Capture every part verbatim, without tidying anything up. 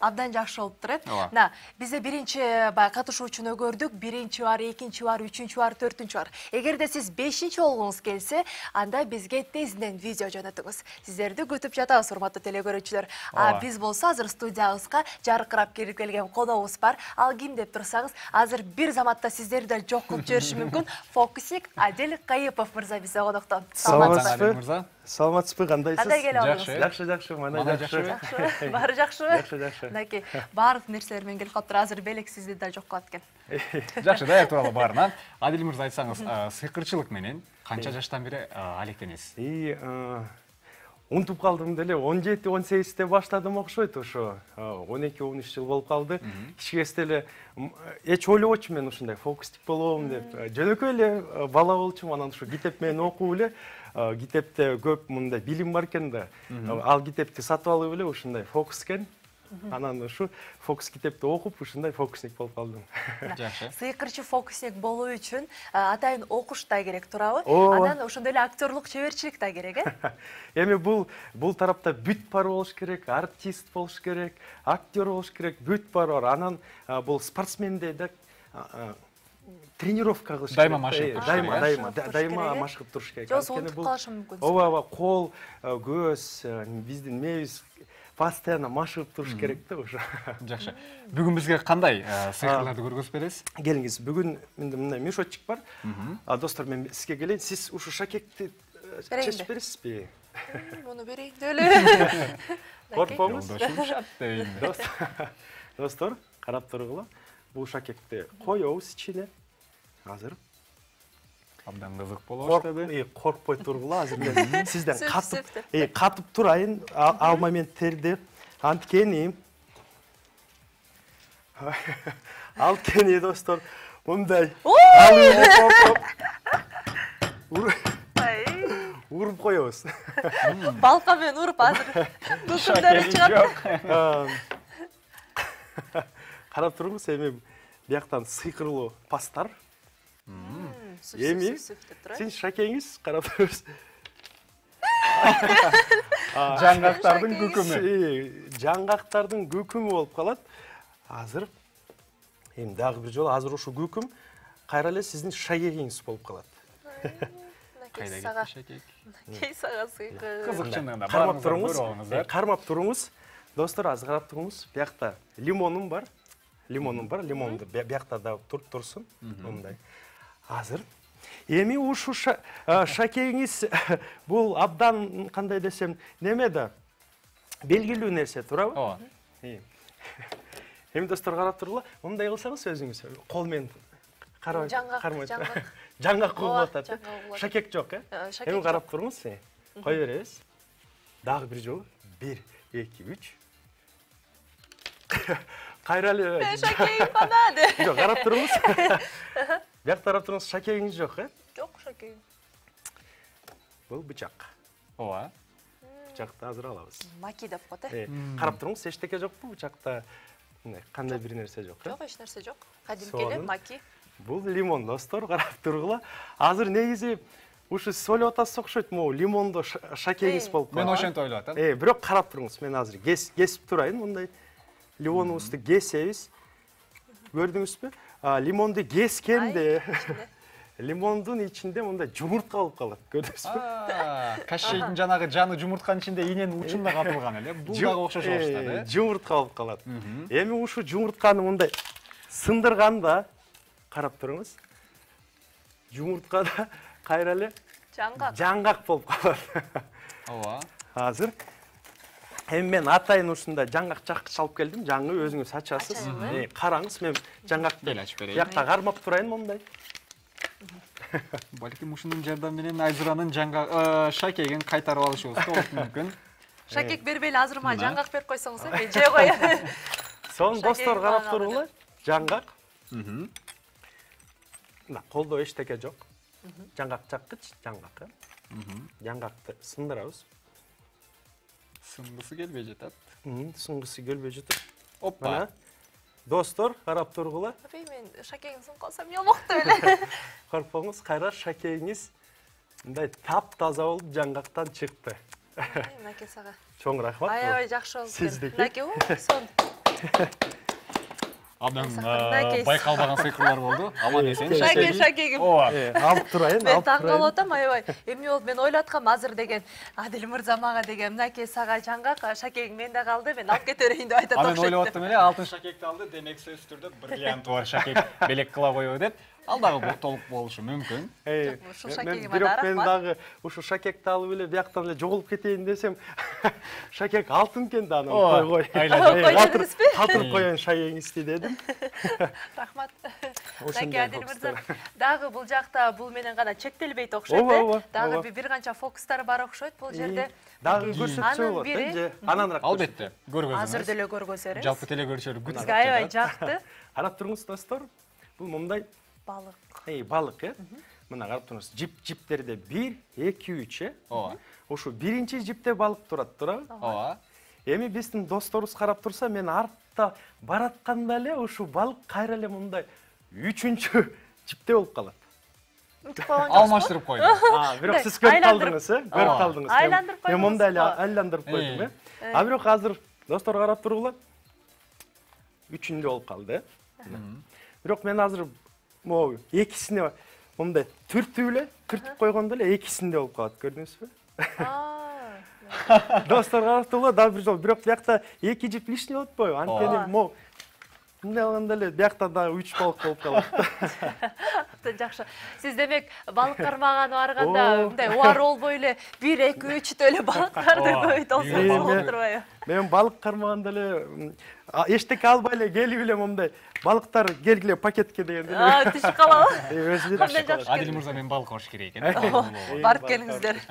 абдан жакшы болуп турат. Мына, бизде биринчи баягы катышуучуну көрдүк, биринчи бар, экинчи бар, үчүнчү бар, төртүнчү бар. Эгерде сиз бешинчи болгуңуз келсе, анда бизге тезинен видео жөнөтүңүз. Сиздерди күтүп жатабыз, урматтуу теле көрүүчүлөр. А биз болсо азыр студиябызга жаркырап кирип келген коногубуз бар. Ал ким деп турсаңыз, азыр бир заматта сиздерди да жок кылып жибериши мүмкүн. Фокусник Адил Кайыпов мырза бизде конокто. Саламатсызбы мырза? Саламатсызбы, кандайсыз? Кандай келе алыңыз? Жакшы, жакшы, мана жакшы. Баары жакшыбы? Жакшы, жакшы. Мынакей, баардык нерселер менен келип калыптыр. Азыр белек сизди да жок кылат экен. Жакшы, даяр тууралуу баарынан. Адил мырза, айтсаңыз, сыйкырчылык менен канча жаштан бери алектенесиз? И унутуп калдым деле, он жети он сегизде баштадым окшойт ошо. он эки он үч жыл болуп калды. Кичинекесте эле эч ойлобочумун мен ушундай фокусник болом деп. Жөнөкөй эле бала болчумун, анан ушу китеп менен окуп эле, китепте көп мындай билим бар экен да. Ал китепти сатып алып эле ушундай фокус экен. Анан ушу фокус китепти окуп, ушундай фокусник болуп калдым. Жакшы. Сыйкырчы фокусник болуу үчүн атайын окуш да керек турабы? Анан ошондой эле актерлук чеберчилик да керек, э? Эми бул бул тарапта бүт бар болуш керек, артист болуш керек, актер болуш керек, бүт бар бар. Анан бул спортсменде да тренировка кылыш керек. Дайыма машыгып, дайыма, дайыма, дайыма машыгып туруш керек. Жоксо унутуп калышы мүмкүн. Ооба, ооба, кол, көз, биздин мебиз постоянно машыгып туруш керек да ошо. Жакшы. Бүгүн бизге кандай сыйкырларды көргөзүп бересиз? Келиңиз, бүгүн менде мындай мешочек бар. А достор, мен сизге келейин. Сиз ушу шакекти чечип бересизби? Муну берейин деп эле. Коркпоңуз. дейин. Достор, карап тургула. Бул шакекти коебуз ичине. Азыр абдан кызык болуп баштады. Коркпой тургула, азыр мен сизден катып, э, катып турайын, ал моменттерди. Анткени Анткени достор, мындай уруп коебуз. Балка менен уруп азыр күкүмдөр чыгат. Карап туруңуз, эми бияктан сыйкырлуу пастар. Эми сиз шакеңиз карап туруңуз. Жаңгактардын күкүмү. Жаңгактардын күкүмү болуп калат. Азыр эми дагы бир жолу азыр ушу күкүм кайра эле сиздин шакегиңиз болуп калат. Кайда кетти шакек? Кей сага сыйкыр. Кызык чындыгында. Кармап туруңуз. Кармап туруңуз. Достор, азыр карап туруңуз. Биякта лимонум бар. Лимонум бар. Лимонду биякта да турсун. Мындай. Азыр эми ушу шакегиңиз бул абдан кандай десем, неме да белгилүү нерсе, туурабы? Ооба. Эми достор, карап тургула, мындай кылсаңыз өзүңүз кол менен карабай, кармай. Жаңгак кылып атат. Шакек жок, э? Эми карап туруңуз, кой беребиз. Дагы бир жолу. бир, эки, үч. Кайра эле. Шакегим бана деп. Жок, карап туруңуз. Бияк тарап туруңуз, шакегиңиз жок, э? Жок, шакегим. Бул бычак. Ооба. Бычакты азыр алабыз. Маки деп коет, э? Карап туруңуз, эчтеке жокпу бычакта? Кандай бир нерсе жок, э? Жок, эч нерсе жок. Кадимки эле маки. Бул лимон, достор, карап тургула. Азыр негизи ушу сиз ойлоп атасыз окшойт, могу лимондо шакегиңиз болуп калат. Мен ошентип ойлоп атам. Э, бирок карап туруңуз, мен азыр кесип турайын, мындай лимонубузду кесебиз. Көрдүңүзбү? Лимонду кескенде лимондун ичинде мындай жумуртка болуп калат. Көрдүңүзбү? Кашейдин жанагы жаны жумуртканын ичинде иненин учунда катылган эле. Бул дагы окшош болуштат, э? Жумуртка болуп калат. Эми ушу жумуртканы мындай сындырганда карап туруңуз. Жумурткада кайра эле жаңгак. Жаңгак болуп калат. Ооба. Азыр эми мен атайын ушундай жаңгак чаккыч алып келдим. Жаңы өзүңүз ачасыз. Э, караңыз, мен жаңгакты бел ачып берейин. Биякта кармап турайын мындай. Балким ушунун жардамы менен Айзыранын жаңгак шакегин кайтарып алышыбыз болушу мүмкүн. Шакек бербейли, азыр ма жаңгак берип койсоңуз, мен жей коеюн. Сонун достор, карап тургула. Жаңгак. Мына колдо эчтеке жок. Жаңгак чаккыч, жаңгак. Жаңгакты сындырабыз. Сынгысы келбей жатат. Сынгысы келбей жатат. Оппа. Достор, карап тургула. Мен шакегим сынып калсам ямокту эле. Коркпоңуз, кайра шакегиңиз мындай таптаза болуп жаңгактан чыкты. Мынакей сага. Чоң рахмат. Аябай жакшы болуп. Сиздики. Мынакей, сон. Абдан Мынакей. байкалбаган сыйкырлар болду. Аман эсен. Шаке, шакегим. Ооба. Алып турайын, Мен алып таң калып турайын. атам, аябай. Эми болуп мен ойлоткам азыр деген Адил мырза мага деген мынакей сага жаңгак, шакегиң менде калды, мен алып кете берейин деп айтат Анан окшойт. ойлоп аттым эле, алтын шакекти алды, демек сөзсүз түрдө бриллианты бар шакек белек кыла койбу деп. Ал дагы толук болушу мүмкүн. Ушул шакегим Бирок ада мен арак дагы ушу шакекти алып эле бияктан эле жоголуп кетейин десем, шакек алтын экен да, анан Ооба, кой кой. айланып. Кой дедиңизби? Калтырып коеюн шагегиңизди дедим. Рахмат. Ошондой Мынакей Адил мырза, фокустар. дагы бул жакта бул менен гана чектелбейт окшойт, Ооба, э? ооба, Дагы ооба. бир канча фокустар бар окшойт бул жерде. Дагы Мынакей. көрсөтсө Анын болот, бири- э, же ананыраак. Албетте, көргөзүңүз. Азыр деле көргөзөрүз. Жалпы телекөрүүчүлөр күтүп Бизге аябай жатат. жакты. Карап туруңуз достор. Бул мындай Балык. эй балык, э? Мына карап туруңуз. Жип-жиптерде бир, эки, үч, э? Ооба. Ошо биринчи жипте балык турат, туурабы? Ооба. Эми биздин досторубуз карап турса, мен артта баратканда эле ушу балык кайра эле мындай үчүнчү жипте болуп калат. Утуп койгон жоксузбу? Алмаштырып койду. А, бирок сиз көрүп Айландырып. калдыңыз, э? Көрүп Ооба. калдыңыз. Айландырып Мен мондай эле койдуңузбу? айландырып койдум, Э. э? А бирок азыр достор карап тургула. Үчүндө болуп калды, э? Бирок мен азыр могу экисине мондай түртүп эле, түртүп койгондо эле экисинде болуп калат, көрдүңүзбү? Аа. Достор карап тургула, дагы бир жолу. Бирок биякта эки жип лишний болуп атпайбы? Ооба. Анткени могу мындай алганда эле биякта дагы үч балык болуп калат. Абдан жакшы. Сиз демек балык кармаганы барганда Оо. мындай убар болбой эле бир, эки, үчтө эле балыктарды Ооба. көбөйт Эми- болсоңуз болуп турбайбы? Мен балык кармаганда эле м, а, эчтеке албай эле келип эле мондай балыктар келгиле пакетке дегенде эле. Аа, түшүп калабы? Өзү Кандай жакшы. Адил мырза мен балык алыш керек экен. Барып келиңиздер.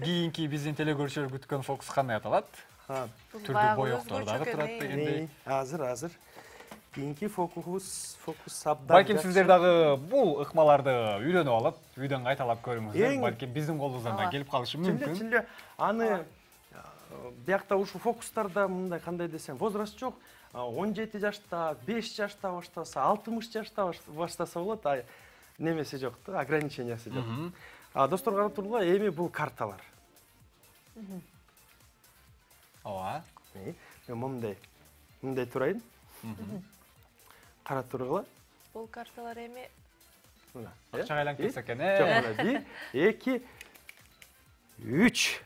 Кийинки биздин телекөрүүчүлөр күткөн фокус кандай аталат? Түрдүү боёктор дагы турат дегендей. Азыр, азыр. Кийинки фокус, фокус абдан. Балким жакшы. сиздер дагы бул ыкмаларды үйрөнүп алып, үйдөн кайталап көрүңүздөр. Эң- Балким биздин колубуздан да Ооба. келип калышы Чынле, мүмкүн. чынле аны биякта ушул фокустарда мындай кандай десем, возраст жок. он жети жашта, беш жашта баштаса, алтымыш жашта баш- баштаса болот, а немеси жок да, ограничениясы жок. А достор карап тургула, эми бул карталар. Ооба. Мен мындай, мындай турайын. Карап тургула. Бул карталар эми Мына. Акчага айланып кетсе экен, Жок, э. мына бир, эки, үч.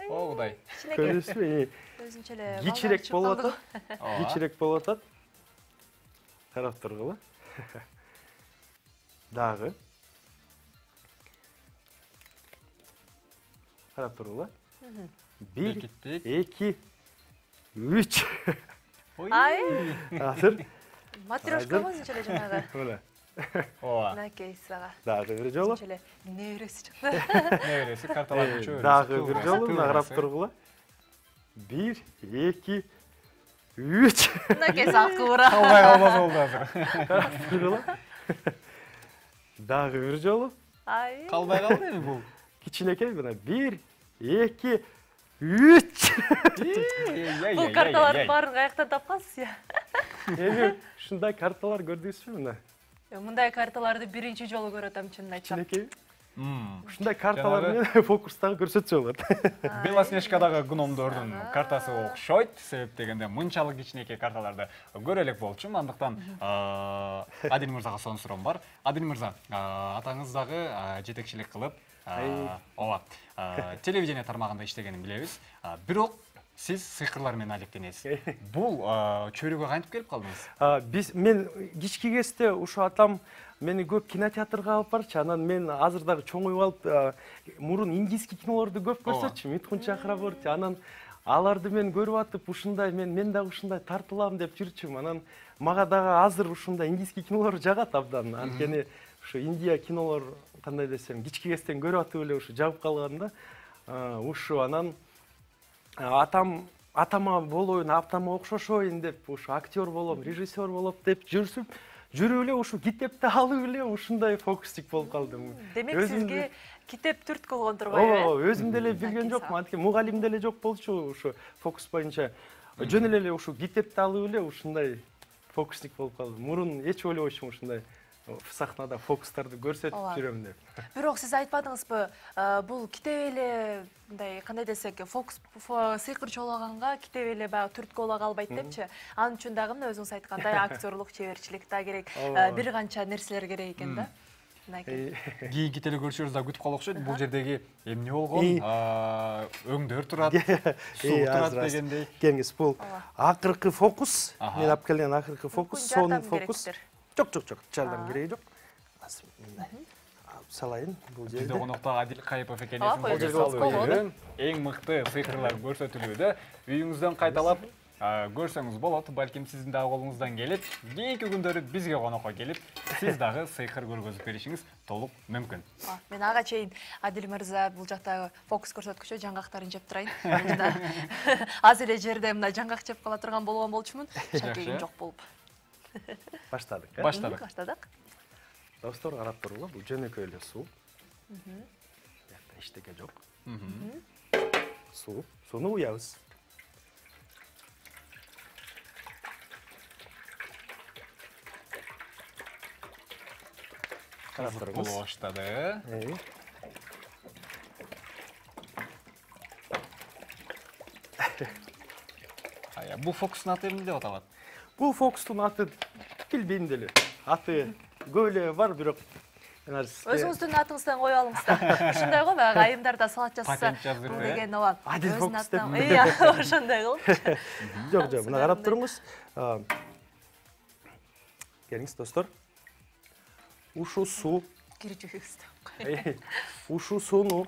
О, Кудай. кичинекей Көрүңүзбү? өзүнчө эле Кичирээк болуп атат. Ооба. Кичирээк болуп атат. Карап тургула. Дагы. Карап тургула. Бир, Бекиттик. эки, үч. Ай, Азыр. матрешка өзүнчө эле жанагы. Мына. Ооба. Мынакей сага. Дагы бир жолу. Өзүнчө эле небереси чыкты. Небереси карталарды чөбөрөсү. Дагы бир жолу мына карап тургула. Бир, эки, үч. Мынакей сага куура. Албай калбаса болду азыр. Карап тургула. Дагы бир жолу. Ай. Калбай калды эми бул. Кичинекей мына бир, эки, үч. Бул карталардын баарын каяктан тапкансыз я? Эми ушундай карталар көрдүңүзбү мына? Мындай карталарды биринчи жолу көрүп атам, чынын айтсам. Кичинекей. Мм. Ушундай карталар менен фокустагы көрсөтсө болот. Белоснежкадагы гномдордун картасы окшойт. Себеп дегенде мынчалык кичинекей карталарды көрө элек болчумун. Андыктан Адил мырзага сонун суроом бар. Адил мырза, атаңыз дагы жетекчилик кылып, ооба, телевидение тармагында иштегенин билебиз. Бирок сиз сыйкырлар менен алектенесиз. Бул чөйрөгө кантип келип калдыңыз? Биз мен кички кезде ушу атам мени көп кинотеатрга алып барчу. Анан мен азыр дагы чоңоюп алып, мурун индийский кинолорду көп көрсөтчү. Митхун Чакраборти. Анан аларды мен көрүп атып, ушундай мен мен дагы ушундай тартылам деп жүрчүм. Анан мага дагы азыр ушундай индийский кинолор жагат абдан. Анткени ушу Индия кинолор кандай десем, кички кезден көрүп атып эле ушу жагып калганда, ушу анан атам атама болоюн, атама окшошоюн деп, ушу актер болом, режиссер болоп деп жүрсүм. Жүрүп эле ушу китепти алып эле ушундай фокустик болуп калдым. Демек сизге китеп түрткү болгон турбайбы? Ооба, өзүм деле билген жокмун. Анткени мугалим деле жок болчу ушу фокус боюнча. Жөн эле ушу китепти алып эле ушундай фокустик болуп калдым. Мурун эч ойлобойчумун ушундай сахнада фокустарды көрсөтүп жүрөм деп. Бирок сиз айтпадыңызбы, бул китеп эле мындай кандай десек, фокус сыйкыр чоологонго китеп эле баягы түрткү боло калбайт депчи. Анын үчүн дагы мына өзүңүз айткандай актерлук чеберчилик да керек, бир канча нерселер керек экен да. Кийинки телекөрүүчүлөрүбүз да күтүп калып окшойт. Бул жердеги эмне болгон? Өңдөр турат, суу турат дегендей. Келиңиз, бул акыркы фокус. Мен алып келген акыркы фокус, сонун фокус. Жок, жок, жок, жардам кереги жок. Азыр мындай алып салайын бул жерде. Бизде конокто Адил Кайыпов экенин бул жерде салып эң мыкты сыйкырлар көрсөтүлүүдө. Үйүңүздөн кайталап көрсөңүз болот. Балким сиздин дагы колуңуздан келет. Кийинки күндөрү бизге конокко келип, сиз дагы сыйкыр көргөзүп беришиңиз толук мүмкүн. Мен ага чейин Адил мырза бул жактагы фокус көрсөткүчө жаңгактарын жеп турайын. Аз эле жерде мына жаңгак жеп кала турган болгон болчумун. Шакегим жок болуп. Баштадык, э? Баштадык. Баштадык. Достор, карап туруңла, бул жөнөкөй эле суу. Бuyakta эчтеке жок. Суу, сууну уябыз. Карап туруңуз. Боло баштады. Ая, бул фокустун аты эмне деп аталат? Бул фокустун аты билбейм деле. Аты көп эле бар, бирок өзүңүздүн атыңыздан коюп алыңыз да. Ушундай го, баягы айымдарда салат жасаса, бул деген ооба. Адил фокус деп. Ыя, ошондой кылып. Жок, жок, мына карап туруңуз. Келиңиз, достор. Ушу суу кирчүгүбүз. Ушу сууну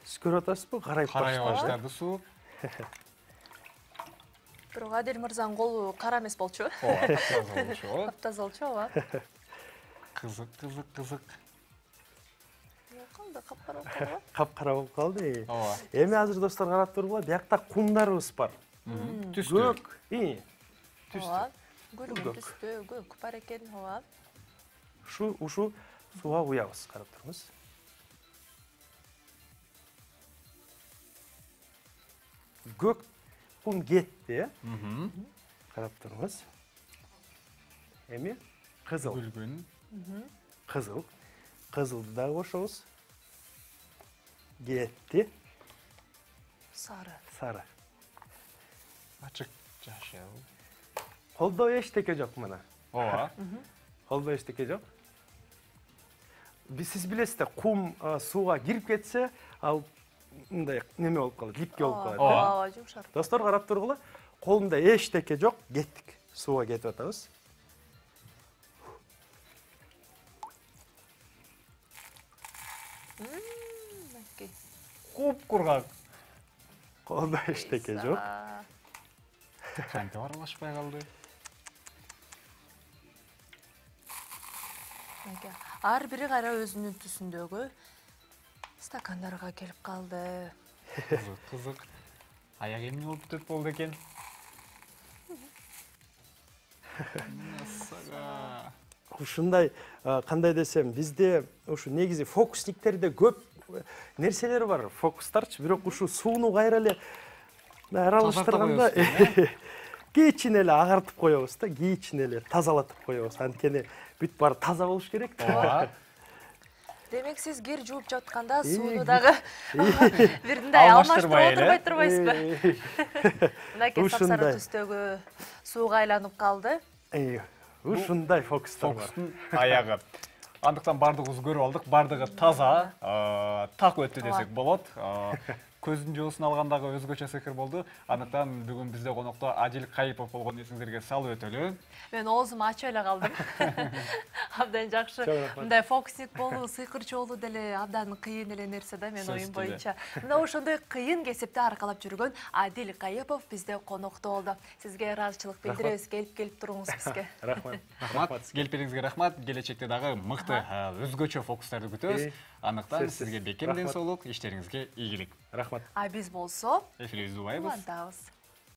сиз көрүп атасызбы? Карайып баштады суу. Бирок Адил мырзанын колу кара эмес болчу. Ооба, таза болчу. Таза болчу, ооба. Кызык, кызык, кызык. Кандай капкара болуп калды? Капкара болуп калды. Ооба. Эми азыр достор карап тургула, биякта кумдарыбыз бар. Түстүү. Көк, ии. Ооба. Гүлгүн түстүү, көк бар экен, ооба. Ушу, ушу сууга куябыз, карап туруңуз. Көк кум кетти, э? Карап туруңуз. Эми кызыл. Гүлгүн. Кызыл. Кызылды дагы кошобуз. Кетти. Сары. Сары. Ачык жашыл. Колдо эчтеке жок мына. Ооба. Колдо эчтеке жок. Биз сиз билесиз да, кум сууга кирип кетсе, ал мындай неме болуп калат, липке болуп калат. Ооба, жумшар. Достор, карап тургула, колумда эчтеке жок, кеттик. Сууга кетип атабыз. Куп кургак. Колумда эчтеке жок. Кантип аралашпай калды? Ар бири кайра өзүнүн түсүндөгү стакандарга келип калды. Кызык, кызык. Аяк эмне болуп бүтөт болду экен? Насага. Ушундай, кандай десем, бизде ушу негизи фокусниктерде көп нерселер бар, фокустарчы, бирок ушу сууну кайра эле аралаштырганда кичине эле агартып коебуз да, кичине эле тазалатып коебуз. Анткени бүт баары таза болуш керек да. Демек сиз кир жууп жатканда сууну дагы бирдей алмаштырып отурбай турбайсызбы? Мынакей сапсары түстөгү сууга айланып калды. Ушундай фокустар бар. Фокустун аягы. Андыктан бардыгыбыз көрүп алдык, бардыгы таза, так өттү десек болот. Көздүн жоосун алгандагы өзгөчө сыйкыр болду. Андыктан бүгүн бизде конокто Адил Кайыпов болгон эсиңиздерге салып өтөлү. Мен оозуму ачып эле калдым. Абдан жакшы. Мындай фокусник болуу, сыйкырчы болуу деле абдан кыйын эле нерсе да, мен оюм боюнча. Мына ошондой кыйын кесипти аркалап жүргөн Адил Кайыпов бизде конокто болду. Сизге ыраазычылык билдиребиз, келип келип туруңуз бизге. Рахмат. Рахмат. Келип бериңизге рахмат. Келечекте дагы мыкты өзгөчө фокустарды күтөбүз. Андыктан сизге бекем ден соолук, иштериңизге ийгилик. Рахмат. А биз болсо эфирибизди убайбыз. улантабыз.